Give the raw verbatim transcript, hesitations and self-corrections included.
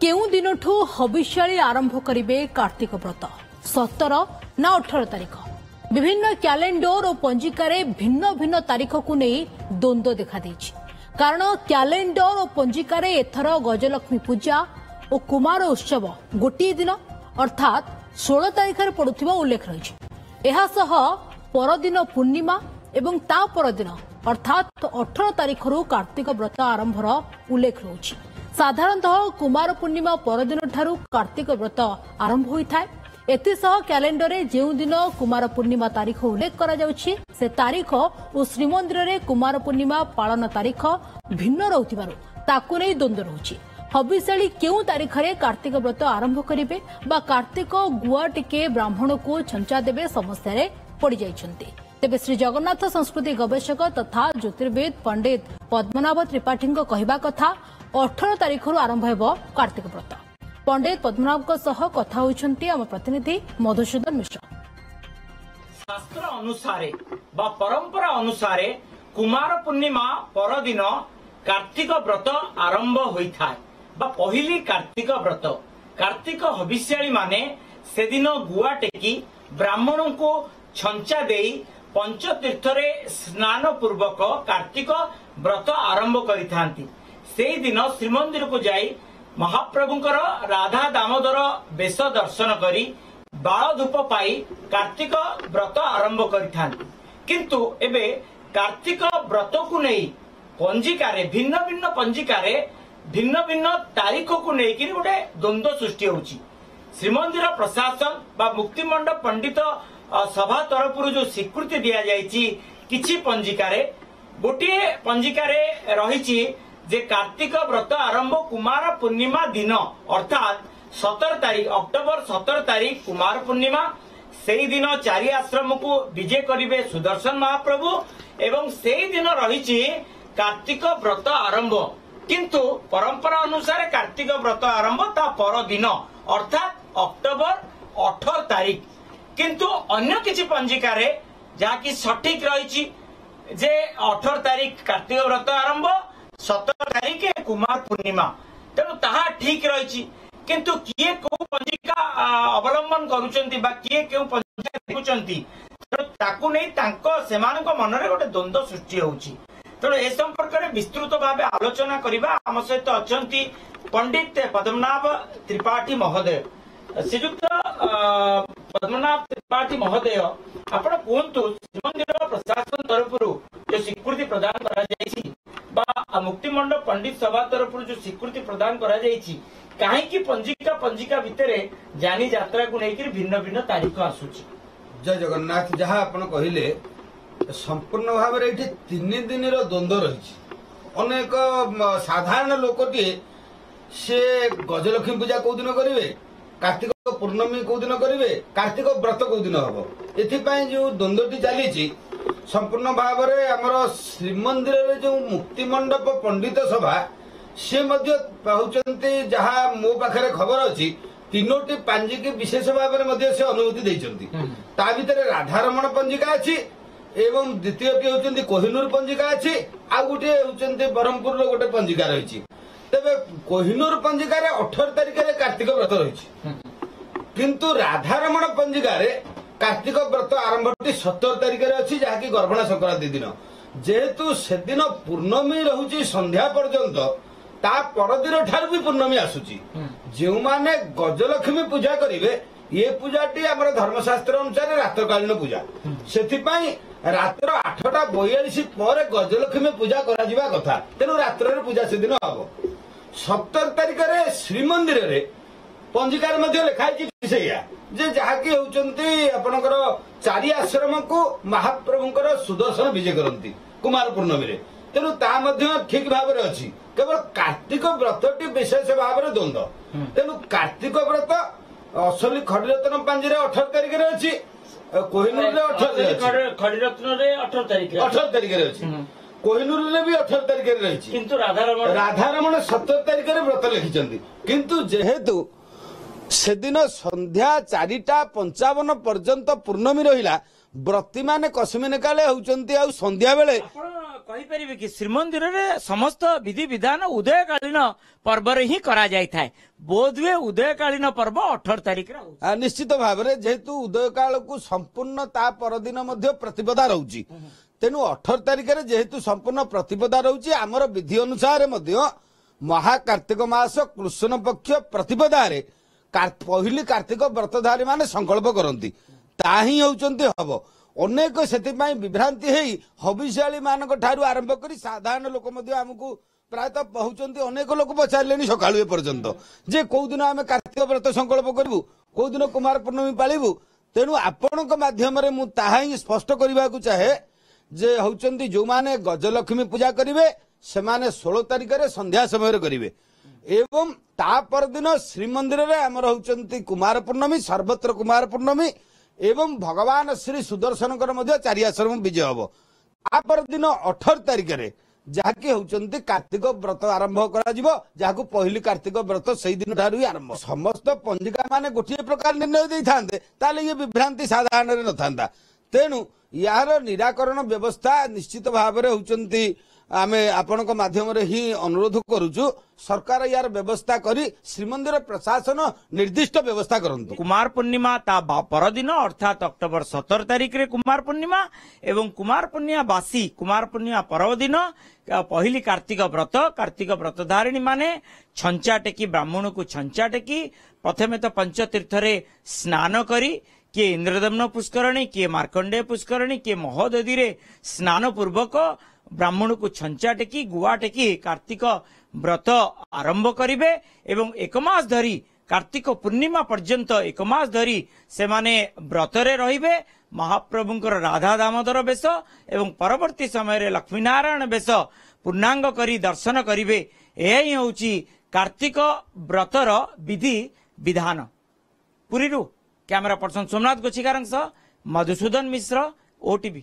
କେଉଁ ଦିନଠୁ ହବିଷ୍ୟାଳି ଆରମ୍ଭ କରିବେ କାର୍ତ୍ତିକ ବ୍ରତ, ସତର ନା ଅଠର ତାରିଖ? ବିଭିନ୍ନ କ୍ୟାଲେଣ୍ଡର ଓ ପଞ୍ଜିକାରେ ଭିନ୍ନ ଭିନ୍ନ ତାରିଖକୁ ନେଇ ଦ୍ୱନ୍ଦ୍ୱ ଦେଖାଦେଇଛି। କାରଣ କ୍ୟାଲେଣ୍ଡର ଓ ପଞ୍ଜିକାରେ ଏଥର ଗଜଲକ୍ଷ୍ମୀ ପୂଜା ଓ କୁମାର ଉତ୍ସବ ଗୋଟିଏ ଦିନ ଅର୍ଥାତ୍ ଷୋହଳ ତାରିଖରେ ପଡୁଥିବା ଉଲ୍ଲେଖ ରହିଛି। ଏହାସହ ପରଦିନ ପୂର୍ଣ୍ଣିମା ଏବଂ ତା ପରଦିନ ଅର୍ଥାତ୍ ଅଠର ତାରିଖରୁ କାର୍ତ୍ତିକ ବ୍ରତ ଆରମ୍ଭର ଉଲ୍ଲେଖ ରହୁଛି। ସାଧାରଣତଃ କୁମାର ପୂର୍ଣ୍ଣିମା ପରଦିନଠାରୁ କାର୍ତ୍ତିକ ବ୍ରତ ଆରମ୍ଭ ହୋଇଥାଏ। ଏଥିସହ କ୍ୟାଲେଣ୍ଡରରେ ଯେଉଁଦିନ କୁମାର ପୂର୍ଣ୍ଣିମା ତାରିଖ ଉଲ୍ଲେଖ କରାଯାଉଛି, ସେ ତାରିଖ ଓ ଶ୍ରୀମନ୍ଦିରରେ କୁମାର ପୂର୍ଣ୍ଣିମା ପାଳନ ତାରିଖ ଭିନ୍ନ ରହୁଥିବାରୁ ତାକୁ ନେଇ ଦ୍ୱନ୍ଦ୍ୱ ରହୁଛି। ହବିଷ୍ୟାଳି କେଉଁ ତାରିଖରେ କାର୍ତ୍ତିକ ବ୍ରତ ଆରମ୍ଭ କରିବେ ବା କାର୍ତ୍ତିକ ଗୁଆ ଟିକେ ବ୍ରାହ୍ମଣକୁ ଛଞ୍ଚା ଦେବେ, ସମସ୍ୟାରେ ପଡ଼ିଯାଇଛନ୍ତି। ତେବେ ଶ୍ରୀ ଜଗନ୍ନାଥ ସଂସ୍କୃତି ଗବେଷକ ତଥା ଜ୍ୟୋତିର୍ବିଦ ପଣ୍ଡିତ ପଦ୍ମନାଭ ତ୍ରିପାଠୀଙ୍କ କହିବା କଥା, ଅଠର ତାରିଖରୁ ଆରମ୍ଭ ହେବ କାର୍ତ୍ତିକ ବ୍ରତ। ପଣ୍ଡିତ ପଦ୍ମନାଭଙ୍କ ସହ କଥା ହୋଇଛନ୍ତି ଆମ ପ୍ରତିନିଧି ମଧୁସୂଦନ ମିଶ୍ର। ଶାସ୍ତ୍ର ଅନୁସାରେ ବା ପରମ୍ପରା ଅନୁସାରେ କୁମାର ପୂର୍ଣ୍ଣିମା ପରଦିନ କାର୍ତ୍ତିକ ବ୍ରତ ଆରମ୍ଭ ହୋଇଥାଏ ବା ପହିଲି କାର୍ତ୍ତିକ ବ୍ରତ। କାର୍ତ୍ତିକ ହବିଷ୍ୟାଳି ମାନେ ସେଦିନ ଗୁଆ ଟେକି ବ୍ରାହ୍ମଣଙ୍କୁ ଛଞ୍ଚା ଦେଇ ପଞ୍ଚତୀର୍ଥରେ ସ୍ନାନ ପୂର୍ବକ କାର୍ତ୍ତିକ ବ୍ରତ ଆରମ୍ଭ କରିଥାନ୍ତି। ସେଇଦିନ ଶ୍ରୀମନ୍ଦିରକୁ ଯାଇ ମହାପ୍ରଭୁଙ୍କର ରାଧା ଦାମୋଦର ବେଶ ଦର୍ଶନ କରି ବାଳ ଧୂପ ପାଇ କାର୍ତ୍ତିକ ବ୍ରତ ଆରମ୍ଭ କରିଥାନ୍ତି। କିନ୍ତୁ ଏବେ କାର୍ତ୍ତିକ ବ୍ରତକୁ ନେଇ ପଞ୍ଜିକାରେ ଭିନ୍ନ ଭିନ୍ନ ପଞ୍ଜିକାରେ ଭିନ୍ନ ଭିନ୍ନ ତାରିଖକୁ ନେଇକିରି ଗୋଟେ ଦ୍ୱନ୍ଦ୍ୱ ସୃଷ୍ଟି ହେଉଛି। ଶ୍ରୀମନ୍ଦିର ପ୍ରଶାସନ ବା ମୁକ୍ତିମଣ୍ଡପ ପଣ୍ଡିତ ସଭା ତରଫରୁ ଯୋଉ ସ୍ୱୀକୃତି ଦିଆଯାଇଛି, କିଛି ପଞ୍ଜିକାରେ, ଗୋଟିଏ ପଞ୍ଜିକାରେ ରହିଛି ଯେ କାର୍ତ୍ତିକ ବ୍ରତ ଆରମ୍ଭ କୁମାର ପୂର୍ଣ୍ଣିମା ଦିନ, ଅର୍ଥାତ୍ ସତର ତାରିଖ, ଅକ୍ଟୋବର ସତର ତାରିଖ କୁମାର ପୂର୍ଣ୍ଣିମା। ସେଇଦିନ ଚାରି ଆଶ୍ରମକୁ ବିଜେ କରିବେ ସୁଦର୍ଶନ ମହାପ୍ରଭୁ ଏବଂ ସେଇଦିନ ରହିଛି କାର୍ତ୍ତିକ ବ୍ରତ ଆରମ୍ଭ। କିନ୍ତୁ ପରମ୍ପରା ଅନୁସାରେ କାର୍ତ୍ତିକ ବ୍ରତ ଆରମ୍ଭ ତା ପରଦିନ ଅର୍ଥାତ୍ ଅକ୍ଟୋବର ଅଠର ତାରିଖ। କିନ୍ତୁ ଅନ୍ୟ କିଛି ପଞ୍ଜିକାରେ ଯାହାକି ସଠିକ ରହିଛି ଯେ ଅଠର ତାରିଖ କାର୍ତ୍ତିକ ବ୍ରତ ଆରମ୍ଭ, ସତର ତାରିଖ କୁମାର ପୂର୍ଣ୍ଣିମା, ତେଣୁ ତାହା ଠିକ ରହିଛି। କିନ୍ତୁ କିଏ କୋଉ ପଞ୍ଜିକା ଅବଲମ୍ବନ କରୁଛନ୍ତି ବା କିଏ କେଉଁ ପଞ୍ଜିକା ଦେଖୁଛନ୍ତି, ତେଣୁ ତାକୁ ନେଇ ତାଙ୍କ ସେମାନଙ୍କ ମନରେ ଗୋଟେ ଦ୍ୱନ୍ଦ୍ୱ ସୃଷ୍ଟି ହେଉଛି। ତେଣୁ ଏ ସମ୍ପର୍କରେ ବିସ୍ତୃତ ଭାବେ ଆଲୋଚନା କରିବା। ଆମ ସହିତ ଅଛନ୍ତି ପଣ୍ଡିତ ପଦ୍ମନାଭ ତ୍ରିପାଠୀ ମହୋଦୟ। ଶ୍ରୀଯୁକ୍ତ ପଦ୍ମନାଭ ତ୍ରିପାଠୀ ମହୋଦୟ, ଆପଣ କୁହନ୍ତୁ, ଶ୍ରୀମନ୍ଦିର ପ୍ରଶାସନ ତରଫରୁ ଯୋଉ ସ୍ୱୀକୃତି ପ୍ରଦାନ କରାଯାଇଛି ବା ମୁକ୍ତିମଣ୍ଡପ ପଣ୍ଡିତ ସଭା ତରଫରୁ ଯୋଉ ସ୍ୱୀକୃତି ପ୍ରଦାନ କରାଯାଇଛି, କାହିଁକି ପଞ୍ଜିକା ପଞ୍ଜିକା ଭିତରେ ଯାନି ଯାତ୍ରାକୁ ନେଇକରି ଭିନ୍ନ ଭିନ୍ନ ତାରିଖ ଆସୁଛି? ଜୟ ଜଗନ୍ନାଥ। ଯାହା ଆପଣ କହିଲେ ସମ୍ପୂର୍ଣ୍ଣ ଭାବରେ ଏଇଠି ତିନି ଦିନର ଦ୍ୱନ୍ଦ୍ୱ ରହିଛି। ଅନେକ ସାଧାରଣ ଲୋକଟିଏ ସେ ଗଜଲକ୍ଷ୍ମୀ ପୂଜା କୋଉ ଦିନ କରିବେ, କାର୍ତ୍ତିକ ପୂର୍ଣ୍ଣମୀ କୋଉ ଦିନ କରିବେ, କାର୍ତ୍ତିକ ବ୍ରତ କୋଉ ଦିନ ହବ, ଏଥିପାଇଁ ଯୋଉ ଦ୍ୱନ୍ଦ୍ୱଟି ଚାଲିଛି ସମ୍ପୂର୍ଣ୍ଣ ଭାବରେ ଆମର ଶ୍ରୀମନ୍ଦିରରେ ଯୋଉ ମୁକ୍ତିମଣ୍ଡପ ପଣ୍ଡିତ ସଭା ସେ ମଧ୍ୟ କହୁଛନ୍ତି, ଯାହା ମୋ ପାଖରେ ଖବର ଅଛି, ତିନୋଟି ପାଞ୍ଜିକି ବିଶେଷ ଭାବରେ ମଧ୍ୟ ସେ ଅନୁମତି ଦେଇଛନ୍ତି। ତା ଭିତରେ ରାଧାରମଣ ପଞ୍ଜିକା ଅଛି ଏବଂ ଦ୍ୱିତୀୟଟି ହେଉଛନ୍ତି କୋହିନୂର ପଞ୍ଜିକା ଅଛି, ଆଉ ଗୋଟିଏ ହେଉଛନ୍ତି ବ୍ରହ୍ମପୁରର ଗୋଟେ ପଞ୍ଜିକା ରହିଛି। ତେବେ କୋହିନୂର ପଞ୍ଜିକାରେ ଅଠର ତାରିଖରେ କାର୍ତ୍ତିକ ବ୍ରତ ରହିଛି, କିନ୍ତୁ ରାଧାରମଣ ପଞ୍ଜିକାରେ କାର୍ତ୍ତିକ ବ୍ରତ ଆରମ୍ଭଟି ସତର ତାରିଖରେ ଅଛି, ଯାହାକି ଗର୍ଭଣା ସଂକ୍ରାନ୍ତି ଦିନ। ଯେହେତୁ ସେଦିନ ପୂର୍ଣ୍ଣମୀ ରହୁଛି ସନ୍ଧ୍ୟା ପର୍ଯ୍ୟନ୍ତ, ତା ପରଦିନ ଠାରୁ ବି ପୂର୍ଣ୍ଣମୀ ଆସୁଛି। ଯେଉଁମାନେ ଗଜଲକ୍ଷ୍ମୀ ପୂଜା କରିବେ, ଏ ପୂଜାଟି ଆମର ଧର୍ମଶାସ୍ତ୍ର ଅନୁସାରେ ରାତ୍ରକାଳୀନ ପୂଜା, ସେଥିପାଇଁ ରାତ୍ର ଆଠଟା ବୟାଳିଶ ପରେ ଗଜଲକ୍ଷ୍ମୀ ପୂଜା କରାଯିବା କଥା। ତେଣୁ ରାତ୍ରରେ ପୂଜା ସେଦିନ ହବ। ସତର ତାରିଖରେ ଶ୍ରୀମନ୍ଦିରରେ ପଞ୍ଜିକାରେ ମଧ୍ୟ ଲେଖା ହେଇଛି ସେଇଆ ଯେ ଯାହାକି ହେଉଛନ୍ତି ଆପଣଙ୍କର ଚାରି ଆଶ୍ରମକୁ ମହାପ୍ରଭୁଙ୍କର ସୁଦର୍ଶନ ବିଜେ କରନ୍ତି କୁମାର ପୂର୍ଣ୍ଣମୀରେ, ତେଣୁ ତା ମଧ୍ୟ ଠିକ ଭାବରେ ଅଛି। କେବଳ କାର୍ତ୍ତିକ ବ୍ରତଟି ବିଶେଷ ଭାବରେ ଦ୍ୱନ୍ଦ୍ୱ। ତେଣୁ କାର୍ତ୍ତିକ ବ୍ରତ ଅସଲି ଖଡିରତ୍ନ ପାଞ୍ଜିରେ ଅଠର ତାରିଖରେ ଅଛି, କୋହିନୂରରେ ଅଠର ଖଡିରତ୍ନରେ ଅଠର ତାରିଖ ଅଠର ତାରିଖରେ ଅଛି, କୋହିନୂରରେ ବି ଅଠର ତାରିଖରେ ରହିଛି, କିନ୍ତୁ ରାଧାରମଣ ରାଧାରମଣ ସତର ତାରିଖରେ ବ୍ରତ ଲେଖିଛନ୍ତି। କିନ୍ତୁ ଯେହେତୁ ସେଦିନ ସନ୍ଧ୍ୟା ଚାରିଟା ପଞ୍ଚାବନ ପର୍ଯ୍ୟନ୍ତ ପୂର୍ଣ୍ଣମୀ ରହିଲା, ବ୍ରତୀମାନେ କସ୍ମିନ କାଳେ ହେଉଛନ୍ତି ଆଉ ସନ୍ଧ୍ୟା ବେଳେ। ଆପଣ କହିପାରିବେ କି ଶ୍ରୀମନ୍ଦିରରେ ସମସ୍ତ ବିଧି ବିଧାନ ଉଦୟକାଳୀନ ପର୍ବରେ ହିଁ କରାଯାଇଥାଏ, ବୋଧହୁଏ ଉଦୟକାଳୀନ ପର୍ବ ଅଠର ତାରିଖରେ? ନିଶ୍ଚିତ ଭାବରେ, ଯେହେତୁ ଉଦୟକାଳକୁ ସମ୍ପୂର୍ଣ୍ଣ ତା ପରଦିନ ମଧ୍ୟ ପ୍ରତିପଦା ରହୁଛି, ତେଣୁ ଅଠର ତାରିଖରେ ଯେହେତୁ ସମ୍ପୂର୍ଣ୍ଣ ପ୍ରତିପଦା ରହୁଛି, ଆମର ବିଧି ଅନୁସାରେ ମଧ୍ୟ ମହାକାର୍ତ୍ତିକ ମାସ କୃଷ୍ଣ ପକ୍ଷ ପ୍ରତିପଦାରେ ପହିଲି କାର୍ତ୍ତିକ ବ୍ରତଧାରୀ ମାନେ ସଂକଳ୍ପ କରନ୍ତି, ତାହା ହିଁ ହେଉଛନ୍ତି ହବ। ଅନେକ ସେଥିପାଇଁ ବିଭ୍ରାନ୍ତି ହେଇ ହବିଷାଳୀ ମାନଙ୍କ ଠାରୁ ଆରମ୍ଭ କରି ସାଧାରଣ ଲୋକ ମଧ୍ୟ ଆମକୁ ପ୍ରାୟତଃ କହୁଛନ୍ତି, ଅନେକ ଲୋକ ପଚାରିଲେଣି ସକାଳୁ ଏ ପର୍ଯ୍ୟନ୍ତ ଯେ କୋଉ ଦିନ ଆମେ କାର୍ତ୍ତିକ ବ୍ରତ ସଂକଳ୍ପ କରିବୁ, କୋଉ ଦିନ କୁମାର ପୂର୍ଣ୍ଣମୀ ପାଳିବୁ। ତେଣୁ ଆପଣଙ୍କ ମାଧ୍ୟମରେ ମୁଁ ତାହା ହିଁ ସ୍ପଷ୍ଟ କରିବାକୁ ଚାହେଁ ଯେ ହେଉଛନ୍ତି ଯୋଉମାନେ ଗଜଲକ୍ଷ୍ମୀ ପୂଜା କରିବେ ସେମାନେ ଷୋହଳ ତାରିଖରେ ସନ୍ଧ୍ୟା ସମୟରେ କରିବେ, ଏବଂ ତା ପରଦିନ ଶ୍ରୀମନ୍ଦିରରେ ଆମର ହେଉଛନ୍ତି କୁମାର ପୂର୍ଣ୍ଣମୀ, ସର୍ବତ୍ର କୁମାର ପୂର୍ଣ୍ଣମୀ, ଏବଂ ଭଗବାନ ଶ୍ରୀ ସୁଦର୍ଶନଙ୍କର ମଧ୍ୟ ଚାରି ଆଶ୍ରମ ବିଜୟ ହବ। ତା ପରଦିନ ଅଠର ତାରିଖରେ ଯାହାକି ହେଉଛନ୍ତି କାର୍ତ୍ତିକ ବ୍ରତ ଆରମ୍ଭ କରାଯିବ, ଯାହାକୁ ପହିଲି କାର୍ତ୍ତିକ ବ୍ରତ ସେଇ ଦିନ ଠାରୁ ହିଁ ଆରମ୍ଭ। ସମସ୍ତ ପଞ୍ଜିକା ମାନେ ଗୋଟିଏ ପ୍ରକାର ନିର୍ଣ୍ଣୟ ଦେଇଥାନ୍ତେ ତାହେଲେ ଇଏ ବିଭ୍ରାନ୍ତି ସାଧାରଣରେ ନଥାନ୍ତା। ତେଣୁ ଏହାର ନିରାକରଣ ବ୍ୟବସ୍ଥା ନିଶ୍ଚିତ ଭାବରେ ହେଉଛନ୍ତି ଆମେ ଆପଣଙ୍କ ମାଧ୍ୟମରେ ହିଁ ଅନୁରୋଧ କରୁଛୁ, ସରକାର ୟାର ବ୍ୟବସ୍ଥା କରି ଶ୍ରୀମନ୍ଦିର ପ୍ରଶାସନ ନିର୍ଦ୍ଦିଷ୍ଟ ବ୍ୟବସ୍ଥା କରନ୍ତୁ। କୁମାର ପୂର୍ଣ୍ଣିମା ତା ପରଦିନ ଅର୍ଥାତ୍ ଅକ୍ଟୋବର ସତର ତାରିଖରେ କୁମାର ପୂର୍ଣ୍ଣିମା, ଏବଂ କୁମାର ପୂର୍ଣ୍ଣିମା ବାସି କୁମାର ପୂର୍ଣ୍ଣିମା ପରଦିନ ପହିଲି କାର୍ତ୍ତିକ ବ୍ରତ। କାର୍ତ୍ତିକ ବ୍ରତଧାରିଣୀ ମାନେ ଛଞ୍ଚା ଟେକି, ବ୍ରାହ୍ମଣକୁ ଛଞ୍ଚା ଟେକି ପ୍ରଥମେ ତ ପଞ୍ଚତୀର୍ଥରେ ସ୍ନାନ କରି, କିଏ ଇନ୍ଦ୍ରଦମ୍ନ ପୁଷ୍କରଣୀ, କିଏ ମାର୍କଣ୍ଡେୟ ପୁଷ୍କରଣୀ, କିଏ ମହୋଦଧିରେ ସ୍ନାନ ପୂର୍ବକ ବ୍ରାହ୍ମଣକୁ ଛଞ୍ଚା ଟେକି ଗୁଆ ଟେକି କାର୍ତ୍ତିକ ବ୍ରତ ଆରମ୍ଭ କରିବେ, ଏବଂ ଏକ ମାସ ଧରି କାର୍ତ୍ତିକ ପୂର୍ଣ୍ଣିମା ପର୍ଯ୍ୟନ୍ତ ଏକ ମାସ ଧରି ସେମାନେ ବ୍ରତରେ ରହିବେ। ମହାପ୍ରଭୁଙ୍କର ରାଧା ଦାମୋଦର ବେଶ ଏବଂ ପରବର୍ତ୍ତୀ ସମୟରେ ଲକ୍ଷ୍ମୀନାରାୟଣ ବେଶ ପୂର୍ଣ୍ଣାଙ୍ଗ କରି ଦର୍ଶନ କରିବେ। ଏହା ହିଁ ହେଉଛି କାର୍ତ୍ତିକ ବ୍ରତର ବିଧି ବିଧାନ। ପୁରୀରୁ କ୍ୟାମେରା ପର୍ସନ ସୋମନାଥ ଗୋଛିକାରଙ୍କ ସହ ମଧୁସୂଦନ ମିଶ୍ର, ଓଟିଭି।